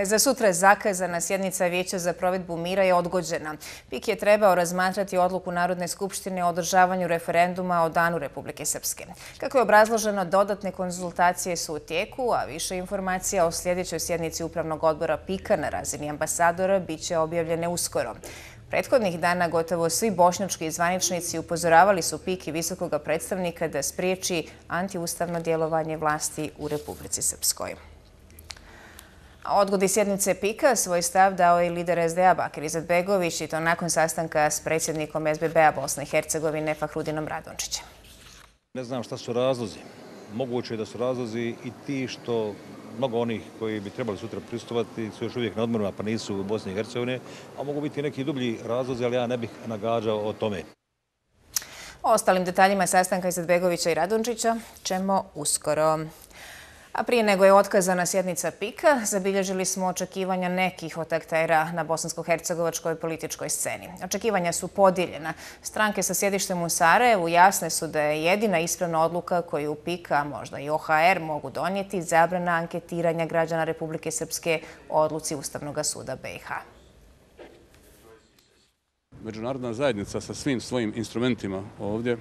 Za sutra zakazana sjednica Vijeća za provedbu mira je odgođena. PIK je trebao razmatrati odluku Narodne skupštine o održavanju referenduma o Danu Republike Srpske. Kako je obrazloženo, dodatne konzultacije su u tijeku, a više informacija o sljedećoj sjednici Upravnog odbora PIK-a na razini ambasadora biće objavljene uskoro. Prethodnih dana gotovo svi bošnjački zvaničnici upozoravali su PIK i visokog predstavnika da spriječi antiustavno djelovanje vlasti u Republici Srpskoj. O odgodi sjednice PIK-a svoj stav dao je lider SDA Bakir Izetbegović i to nakon sastanka s predsjednikom SBB-a Bosne i Hercegovine Fahrudinom Radončićem. Ne znam šta su razlozi. Moguće je da su razlozi i ti što mnogo onih koji bi trebali sutra prisustvovati su još uvijek na odmorima pa nisu u Bosni i Hercegovine, a mogu biti neki dublji razlozi, ali ja ne bih nagađao o tome. O ostalim detaljima sastanka Izetbegovića i Radončića ćemo uskoro. A prije nego je otkazana sjednica PIK-a, zabilježili smo očekivanja nekih od aktera na bosansko-hercegovačkoj političkoj sceni. Očekivanja su podijeljena. Stranke sa sjedištem u Sarajevu jasne su da je jedina ispravna odluka koju PIK, a možda i OHR mogu donijeti, zabrana anketiranja građana Republike Srpske o odluci Ustavnog suda BiH. Međunarodna zajednica sa svim svojim instrumentima ovdje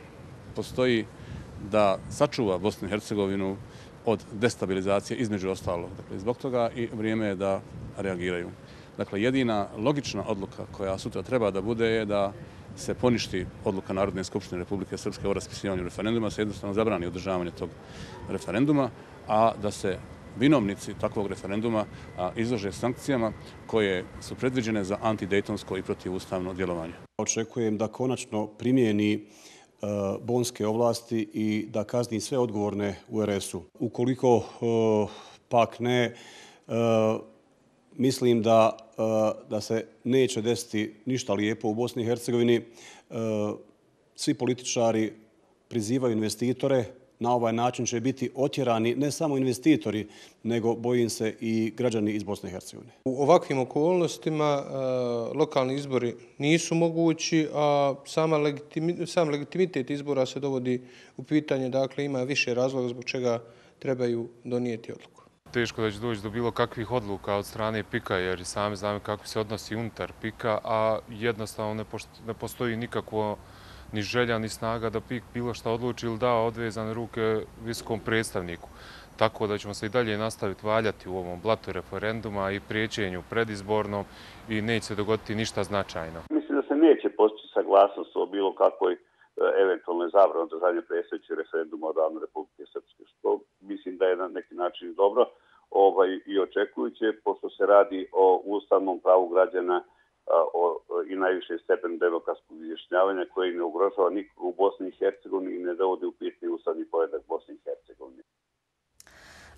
postoji da sačuva Bosnu i Hercegovinu od destabilizacije između ostalog. Dakle, zbog toga i vrijeme je da reagiraju. Dakle, jedina logična odluka koja sutra treba da bude je da se poništi odluka Narodne skupštine Republike Srpske o raspisivanju referenduma, se jednostavno zabrani održavanje tog referenduma, a da se vinovnici takvog referenduma izlože sankcijama koje su predviđene za antidejtonsko i protivustavno djelovanje. Očekujem da konačno primijeni bonske ovlasti i da kazni sve odgovorne u RS-u. Ukoliko pak ne, mislim da se neće desiti ništa lijepo u Bosni i Hercegovini. Svi političari prizivaju investitore. Na ovaj način će biti otjerani ne samo investitori, nego bojim se i građani iz Bosne i Hercegovine. U ovakvim okolnostima lokalni izbori nisu mogući, a sam legitimitet izbora se dovodi u pitanje. Dakle, ima više razloga zbog čega trebaju donijeti odluku. Teško da će doći do bilo kakvih odluka od strane PIK-a, jer i sami znamo kako se odnosi unutar PIK-a, a jednostavno ne postoji nikakvo ni želja, ni snaga da PIK bilo šta odluči ili da odvezane ruke visokom predstavniku. Tako da ćemo se i dalje nastaviti valjati u ovom blatu referenduma i priječenju predizbornom i neće se dogoditi ništa značajno. Mislim da se neće postići saglasnost o bilo kakvoj eventualnoj zabrani održavanja predstojećeg referenduma o Danu Republike Srpske, što mislim da je na neki način dobro i očekujuće, pošto se radi o ustavnom pravu građana i najviše stepen demokratskog izjašnjavanja koji ne ugrožava nikoga u Bosni i Hercegovini i ne dovodi u pitanje ustavni poredak Bosne i Hercegovine.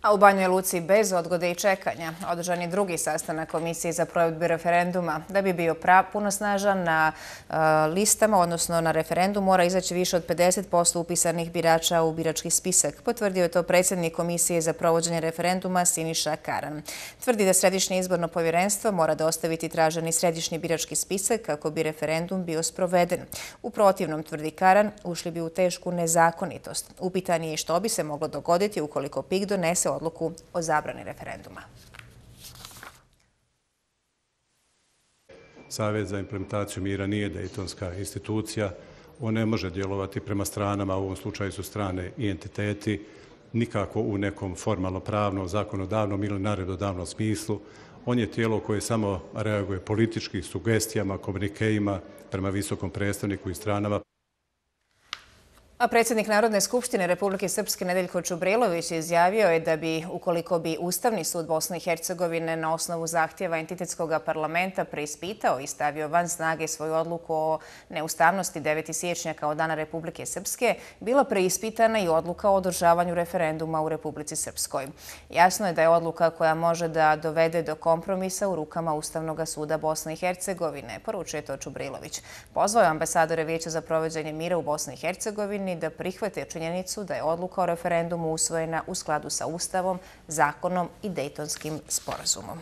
A u Banjoj Luci bez odgode i čekanja održan je drugi sastanak Komisije za provedbu referenduma. Da bi bio punosnažan na listama, odnosno na referendum, mora izaći više od 50% upisanih birača u birački spisak. Potvrdio je to predsjednik Komisije za provođenje referenduma Siniša Karan. Tvrdi da Središnje izborno povjerenstvo mora dostaviti traženi središnji birački spisak kako bi referendum bio sproveden. U protivnom, tvrdi Karan, ušli bi u tešku nezakonitost. Upitan je i što bi se moglo dogoditi ukoliko PIK donese odluku o zabrani referenduma. Savjet za implementaciju mira nije dejtonska institucija. On ne može djelovati prema stranama, u ovom slučaju su strane i entiteti, nikako u nekom formalno-pravnom, zakonodavnom ili naredodavnom smislu. On je tijelo koje samo reaguje politički sugestijama, komunikeima prema visokom predstavniku i stranama. A predsjednik Narodne skupštine Republike Srpske Nedeljko Čubrilović izjavio je da bi, ukoliko bi Ustavni sud Bosne i Hercegovine na osnovu zahtjeva entitetskog parlamenta preispitao i stavio van snage svoju odluku o neustavnosti 9. siječnja kao Dana Republike Srpske, bila preispitana i odluka o održavanju referenduma u Republici Srpskoj. Jasno je da je odluka koja može da dovede do kompromisa u rukama Ustavnog suda Bosne i Hercegovine, poručuje to Čubrilović. Pozvao je ambasadore Vijeća za provođenje mira u Bosni i Hercegovini da prihvate činjenicu da je odluka o referendumu usvojena u skladu sa Ustavom, zakonom i Dejtonskim sporazumom.